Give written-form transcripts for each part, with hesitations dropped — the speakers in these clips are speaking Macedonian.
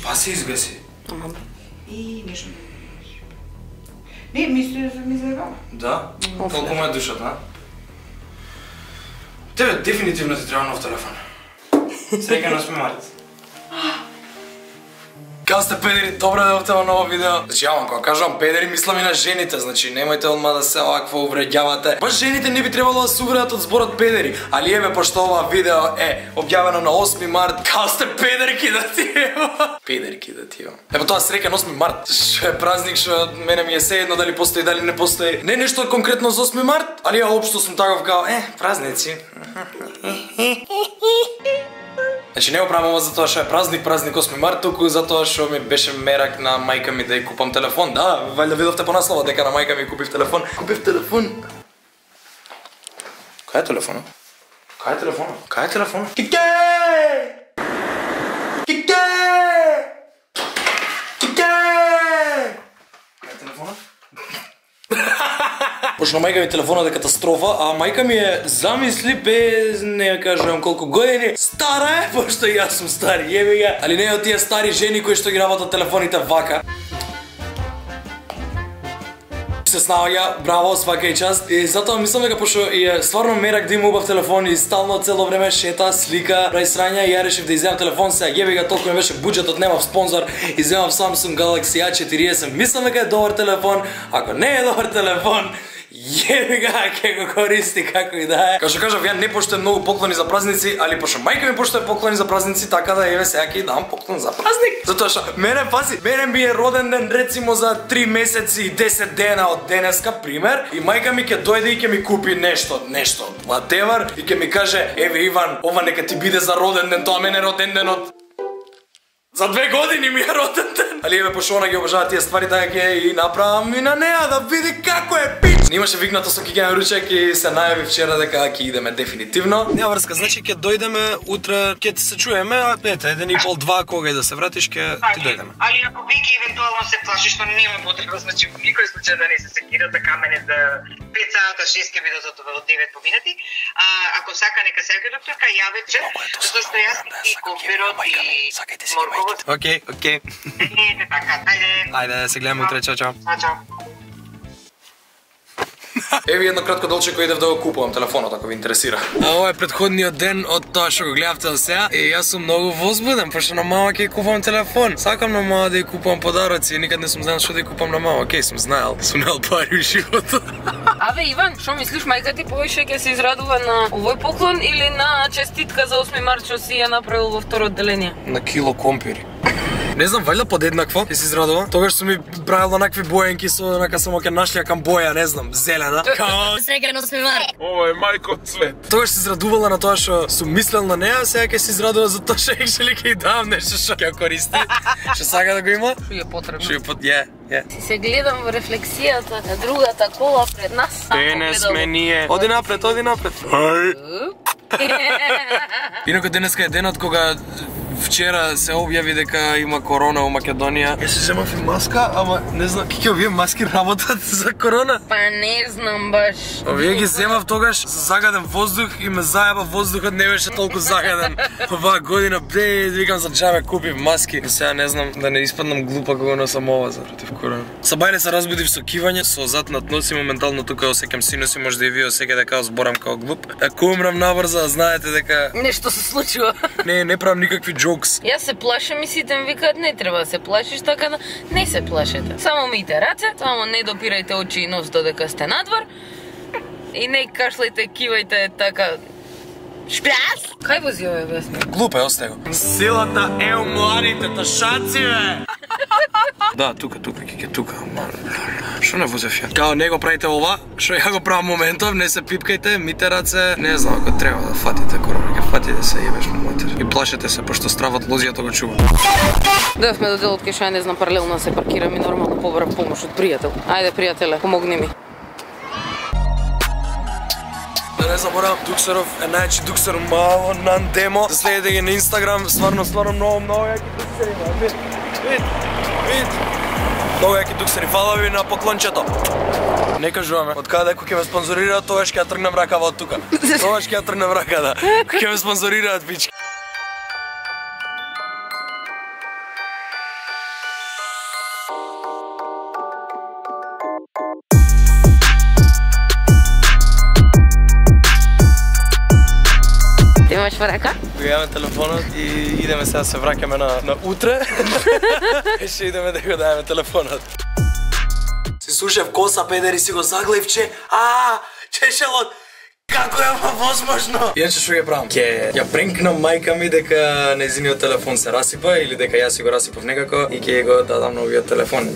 Па се изгаси. И нешто. Не, мисли да ми заебава. Да? Колку му е душата, а? Тебе дефинитивно ти треба нов телефон. Среќа на 8 март. Као сте педери, добро дојдовте во ново видео. Значи, јавам, кога кажувам педери, мислам и на жените, значи, немојте одма да се овакво увреѓавате. Баш жените не би требало да се увредат од зборот педери, али еве, пошто ова видео е објавено на 8 март, као сте педерки да ти ева. Педерки да ти ева. Епо тоа среќа на 8 март, што е празник, што мене ми е сеедно дали постои, дали не постои. Не нешто конкретно за 8 март, али ја општо сум таков као, празници. Значи не го правам ова затоа што е празник 8 март, туку затоа што ми беше мерак на мајка ми да ја купам телефон. Да, валјда видовте по наслова дека на мајка ми купив телефон. Купив телефон. Кај е телефонот? Кај е телефонот? Кај е телефонот? Кике! Кике! Кике! Кај е телефонот? Пошто мајка ми телефонот е катастрофа, а мајка ми е, замисли, без не ја кажувам колку години, стара е, пошто и јас сум стар, јеби га. Али не е од тие стари жени кои што ги работат телефоните вака. Се снаоѓа, браво, свака и част. И затоа мислам дека пошто е стварно мерак да има убав телефон и стално цело време шета, слика, прави срања и ја решив да иземам телефон, сега јеби га, толку ми беше буџетот, немав спонзор, иземам Samsung Galaxy A40. Мислам дека е добар телефон, ако не е добар телефон, јеби га, ке го користи како и да е. Како што кажав, ја не поштуем многу поклони за празници, али пошто мајка ми поштуе поклони за празници, така да еве сега ќе дам поклон за празник. Затоа што мене ми е роден ден рецимо за 3 месеци и 10 дена од денеска, пример, и мајка ми ќе дојде и ќе ми купи нешто, whatever, и ќе ми каже, еве Иван, ова нека ти биде за роден ден, тоа мене роден денот за 2 години ми е роден ден. Али еве, пошто она ги обожава тие ствари, така ќе и направам и на неа да види како е пич. Имаше викнато со Кикен ручек и се најави вчера дека ќе идеме дефинитивно. Нема врска, значи ќе дојдеме утре, ќе се чуеме, а ете, 1,5-2 кога и да се вратиш ќе ти дојдеме. Али ако Вики евентуално се плаши што нема потреба, значи во никој случај да не се секира така мене да 5 сата 6 ќе биде затоа од 9 поминати. Ако сака нека се јави докторка, јавете, затоа што јас и коферот и морковот. Окей. Ете така, Ајде, се гледаме утре, чао. Чао. Еви едно кратко долче кој идев да го купувам телефонот, ако ви интересира. А ова е предходниот ден од тоа што го гледавте до сега и јас сум многу возбуден, пошто на мама ќе купувам телефон. Сакам на мама да ја купувам подароци, никад не сум знаел што да ја купам на мама. Океј, сум знаел пари во животот. Аве Иван, што мислиш, мајка ти повише ќе се израдува на овој поклон или на честитка за 8 март што си ја направил во второ одделение? На кило компири. Не знам, валјда подеднакво ќе се израдува. Тогаш сум ми правил онакви боенки со онака само ќе нашлјакам боја, не знам, зелена. Као Среќен 8 март. ова е мајко цвет. Тогаш се израдувала на тоа што сум мислел на неа, сега ќе се израдува за тоа што екшели ќе дам нешто што ќе користи. Што сака да го има? Што е потребно? Што е Се гледам во рефлексијата на другата кола пред нас. Денес сме ние. Оди напред. Инаку денеска е денот кога вчера се објави дека има корона во Македонија. Јас се земав и маска, ама не знам ќе овие маски работат за корона. Па не знам баш. Овие ги земав тогаш за загаден воздух и ме заеба воздухот, не беше толку загаден. Оваа година викам за џабе купив маски. И сега не знам да не испаднам глупа кога носам ова за против корона. Сабајле се разбудив со кивање, со зад над нос и моментално тука осеќам синуси, може да и вие осеќате дека зборам као глуп. Ако умрам набрзо, знаете дека Нешто се случува. Не правам никакви джокс. Јас се плашам и сите ми викаат не треба да се плашиш, така да не се плашете. Само мијте раце, само не допирајте очи и нос додека сте надвор. И не кашлајте, кивајте така. Шпрас! Кај вози овој весник? Глупе, остај го. Силата е у младите ташаци, бе! Да, тука, кике, тука. Што не возев ја? Као не го правите ова, што ја го правам моментов, не се пипкајте, мите раце, не знам, ако треба да фатите корона, ќе фатите се, јебеш му матер. И плашете се, пошто стравот лозијата го чува. Дојавме до делот кај што ја не знам паралелно се паркирам и нормално побарам помош од пријател. Ајде, пријателе, помогни ми. Да не заборавам, Дуксеров е најачи Дуксер мало нан демо. Да следите ги на Инстаграм, стварно многу јаки Дуксери, вид. Многу јаки Дуксери, фала ви на поклончето. Не кажуваме, од каде ако ќе ме спонзорираат, тогаш ќе ја тргнам ракава од тука. Тогаш ќе ја тргнам рака, да. Ќе ме спонзорираат, бички. имаш во рака? Го имаме телефонот и идеме сега се враќаме на утре. Ще идеме да го дајаме телефонот. Си слушав коса педери, си го заглавче. Чешелот. Како е возможно? Иначе што ја правам? Ќе ја пренкнам мајка ми дека нејзиниот телефон се расипа или дека јас си го расипав некако и ќе го дадам новиот телефон.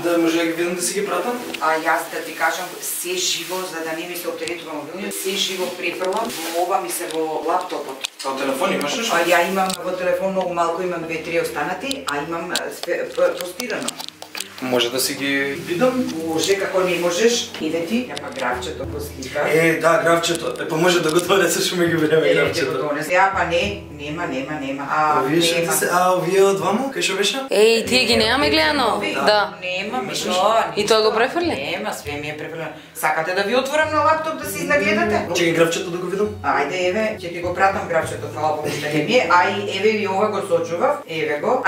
Да може да ги видам да си ги пратам? Јас да ти кажам се живо, за да не ми се оптеретува мобилниот, се живо префрлам, ова ми се во лаптопот. Као телефон имаш нешто? Ја имам во телефон многу малку, имам 2-3 останати, а имам постирано. Може да си ги видам? Може, како не можеш, иде ти, ја па графчето го слика. Да, графчето. Па може да го донесе, што ме ги време графчето. Ја па не, нема. Вие што се, овие од ваму, кај што беше? Еј, тие ги немаме гледано? Да. Нема, И тоа го префрли? Нема, све ми е префрлено. Сакате да ви отворам на лаптоп да си изнагледате? Чекај графчето да го видам. Ајде, еве, ќе ти го пратам графчето, фала Богу што не ми е, еве и ова го сочував, еве го.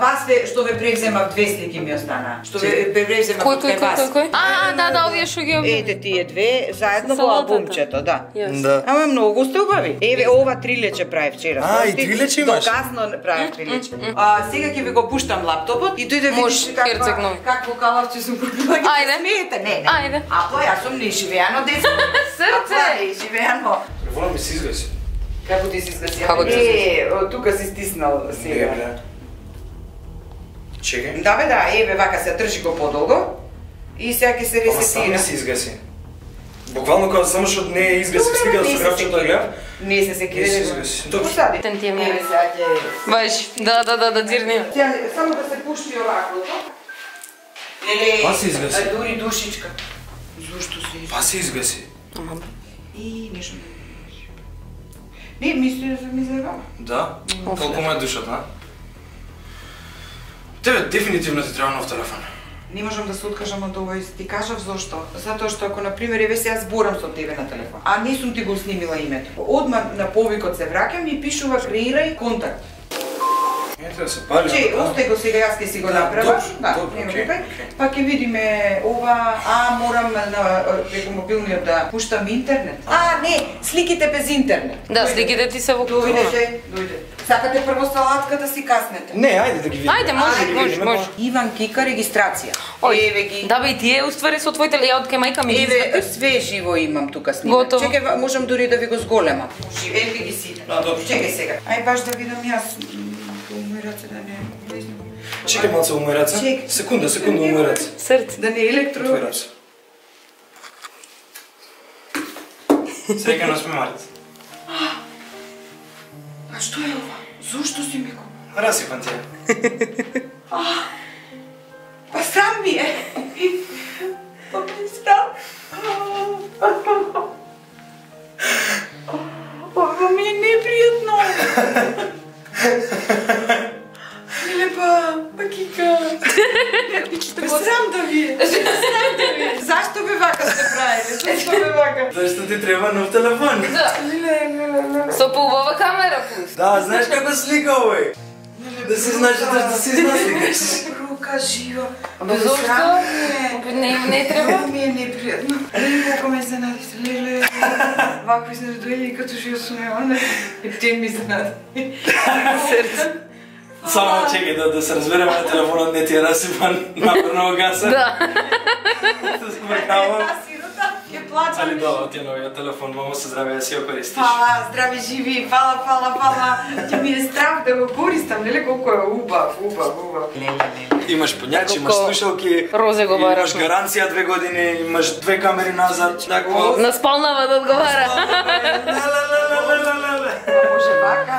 Вас што ве превземав, 2 слики ми остана. Што ве превземав од вас. Кој? Да, овие што ги Ете тие две, заедно во Салатата. албумчето, да. Да. Ама многу сте убави. Еве, ова 3 лече прави вчера. И 3 лече имаш? Доказно прави 3 лече. Сега ќе ви го пуштам лаптопот и дојде Може, видиш Херцег нови. какво калавче сум купила. Ајде. Смеете, не. Ајде. Јас сум неживеано дете. Срце! Неживеано. Телефонот ми се изгаси. Како ти си изгаси? Како ти се тука си стиснал сега. Чекај. Да, еве вака се држи го подолго и сега ќе се Ама сам ресетира. се изгаси. Буквално кога само што не е изгаси, стига да се графчето да гледам. Не се Не се изгаси. Добро. Посади. Тен ти е Еве мене. сега ќе... Баш, да, дзирни. Сега само да се пушти оваклото. Леле, Па се изгаси. дури душичка. Зошто се изгаси? Па се изгаси. И нешто не мисли да се ми заебава. Да? Колку му е душата, Тебе дефинитивно ти треба нов телефон. Не можам да се откажам од ова и ти кажав зошто. Затоа што ако на пример еве сега зборам со тебе на телефон, а не сум ти го снимила името. Одма на повикот се враќам и пишува креирај контакт. Ете да се пали. Остај го сега, јас ќе си го направам. Добро, нема окей. проблем. Па ќе видиме ова, морам преку мобилниот да пуштам интернет. Не, сликите без интернет. Да, сликите ти се во Дојде. Сакате прво салатка да си каснете. Не, ајде да ги видиме. Ајде, може. Иван Кика регистрација. Еве ги. Да бе, и тие уствари со твоите ја од кај мајка ми. Еве, све живо имам тука снимак. Готово. Чекај, можам дури да ви го зголемам. Еве ги сите. Добро. Чекај сега. Ај баш да видам јас. Мој раце да не влезне. Чекај малце у мој раце. Чекај. Секунда у мој раце. Срце. Да не е електро. Твој раце. Среќа на смемарец. А што е ова? Зошто си ми го? Расипан ти е. Па срам ми е. Па ми срам. Ова ми е непријатно. Миле па Кика. Па срам да ви е. Зашто бе вака сте правили? Зашто бе вака? Зашто ти треба нов телефон? Со поубава камера пус. Да, знаеш како слика овој? Да си знаеш да си сликаш. Рука жива. Зошто? Не треба. Ми е непријатно. Колко ме изненадите, леле. Вако изненадуели като живо сум ја, и ти ми изненади. Срце. Само чекај да се разбереме на телефонот не ти е расипан, напрно го гаса. Да. Да се бркавам. Ќе плачам. Али добро, ти е новиот телефон, мамо се здраве, да си го користиш. Фала, здрави живи, фала. Ќе ми е страх да го користам, нели колко е убав. Имаш понјачи, имаш слушалки, Розе го бара. имаш гаранција 2 години, имаш 2 камери назад, такво. На спалнава да одговара. Може вака.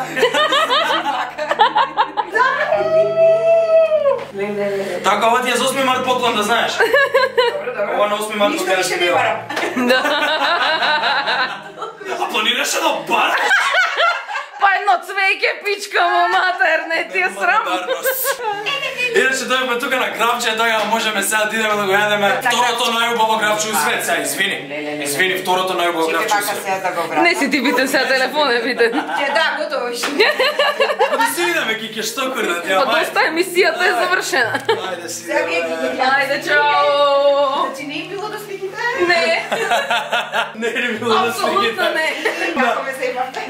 Така, ова ти е за 8 март поклон, да знаеш. Добро. Ова на 8 март Ништо поклон више не барам. А планираше да бараш? Па едно цвеќе. Лејке пичка му матер, не ти е срам. Иначе дојдеме тука на гравче, така можеме сега да идеме да го јадеме второто најубаво гравче у свет, сега извини, второто најубаво гравче у свет. Не си ти битен сега телефон е битен. Да, готово ше. Не си видаме кике што курнат, ја Па доста емисијата е завршена. Ајде си. Ајде, чао. Значи не е било да сликите? Не. Не е било да сликите. Апсолутно не. Како ме заебавте?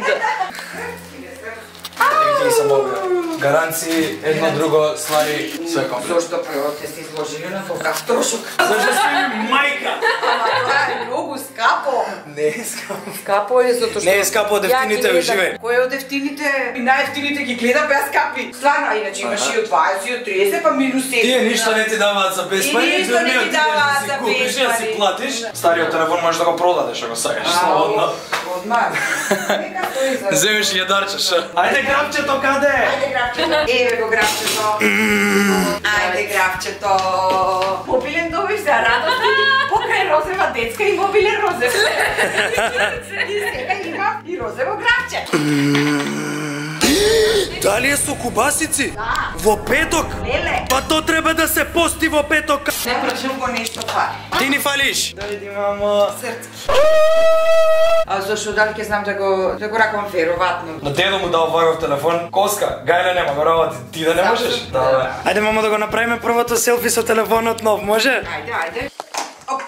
Ети сам овие. Гаранции, едно друго, ствари, све комплет. Зошто прво те се изложили на толкав трошок? Зашто си мајка? Ама тоа е многу скапо. Не е скапо. Скапо е затоа што... Не е скапо од ефтините, уживај. Кој од ефтините и најефтините ги гледам беа скапи. Стварно, а иначе имаш и од 20 и од 30 па минус 7. Тие ништо не ти даваат за без пари, И ништо не ти даваат за без купиш, ја си пари. платиш. Стариот телефон можеш да го продадеш ако сакаш, слободно. Одмар. Нека стои за... Земеш ја дарчеш. Ајде гравчето каде? Ајде гравчето. Еве го гравчето. Ајде гравчето. Мобилен добив за радост. Покрај розева детска и мобилен розев. И сега има и розево гравче. Дали е со кубасици? Да. Во петок? Леле. Па то треба да се пости во петок. Не прашам го нешто фали. Ти ни фалиш. Дојди, мамо. Срцки. А зашто дали ќе знам да го ракам вероvatno. На дедо му дал вајов телефон. Коска, гајле нема, го работи. Ти да не можеш? Да. Ајде, мамо, да го направиме првото селфи со телефонот нов, може? Ајде. Оп.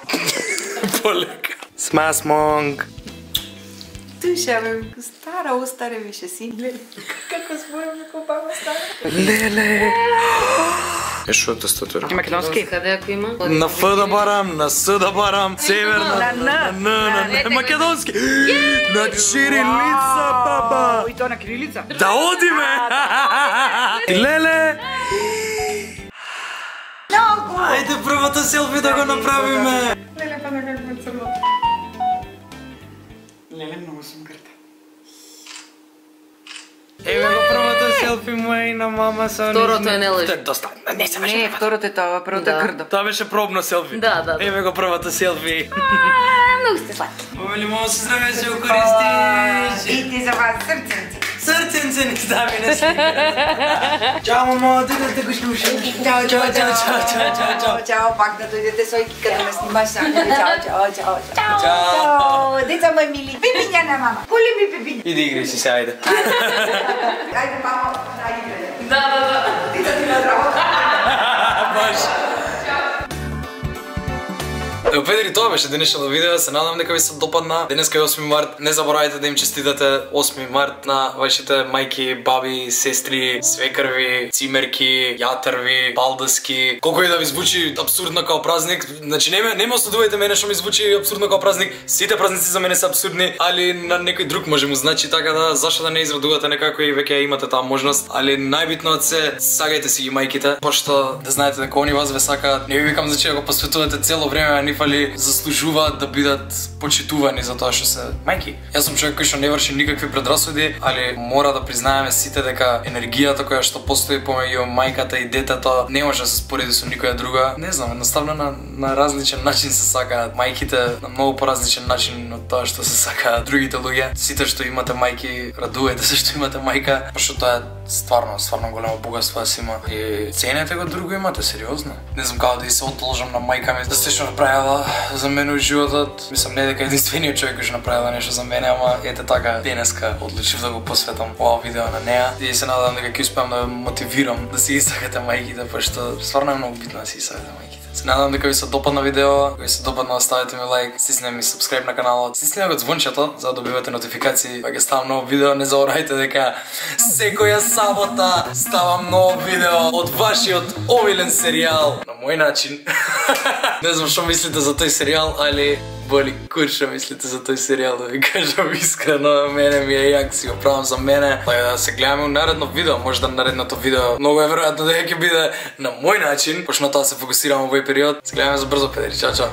Полека. Смасмонг. Душа ме стара, остаре више си. Како зборам како баба стара. Леле. Е шо е тастатура? Македонски. Каде ако има? На Ф да барам, на С да барам, северна, На на македонски. На чирилица, баба. И тоа на кирилица. Да одиме. Леле. Многу. Ајде првото селфи да го направиме. Леле, па на како ме црно. Леле, многу сум грда. Еве го првото селфи моја и на мама со Второто е не лъжи. Доста. Не се беше. Не, второто е тоа, првото е Да. грдо. Тоа беше пробно селфи. Да. Еве го првото селфи. Многу сте сладки. Овели мамо се здраве се користиш. И ти за вас срценци. Срценце ни стави на слика. Чао мамо, да го слушам. Чао, чао, чао, чао. Чао, пак да дојдете со Ики кога ме снимаш сам. Чао. Чао. Чао, деца мои мили. Пипиња на мама. Коли ми пипиња? Иди игри си се, ајде. Ајде, мамо, да играме. Да. Деца ти на работа. Баш. Ево, педери, тоа беше денешното видео, се надам дека ви се допадна. Денеска е 8 март, не заборавајте да им честитате 8 март на вашите мајки, баби, сестри, свекрви, цимерки, јатарви, балдаски. Колко и да ви звучи абсурдно као празник, значи не ме осудувајте мене што ми звучи абсурдно као празник. Сите празници за мене се абсурдни, али на некој друг може му значи, така да зашто да не израдувате некако и веќе имате таа можност. Али најбитно се сагајте си ги мајките, пошто да знаете дека они вас ве сакаат. Не ви викам значи да го посветувате цело време, ниф али заслужуваат да бидат почитувани за тоа што се мајки. Јас сум човек кој што не врши никакви предрасуди, али мора да признаеме сите дека енергијата која што постои помеѓу мајката и детето не може да се спореди со никоја друга. Не знам, едноставно на различен начин се сакаат мајките, на многу поразличен начин од тоа што се сакаат другите луѓе. Сите што имате мајки, радувајте се што имате мајка, пошто тоа е стварно големо богатство да си има. И ценете го друго имате, сериозно. Не знам како да и се одолжам на мајка ми да се што направила за мене во животот. Мислам не дека единствениот човек кој што направила нешто за мене, ама ете така денеска одлучив да го посветам ова видео на неа и се надам дека ќе успеам да мотивирам да си сакате мајките, пошто стварно е многу битно да си сакате мајките. Се надам дека ви се допадна видео, ако ви се допадна оставете ми лайк, стиснете ми сабскрајб на каналот, стиснете го звончето за да добивате нотификации кога ќе ставам ново видео. Не заборавајте дека секоја сабота ставам ново видео од вашиот омилен серијал на мој начин. Не знам што мислите за тој серијал, али боли курша мислите за тој серијал, да ви кажам искрено, мене ми е јак, си го правам за мене. Така да се гледаме у наредно видео, може да наредното видео многу е веројатно дека ќе биде на мој начин, пошто на тоа се фокусирам во овој период. Се гледаме за брзо, педери, чао.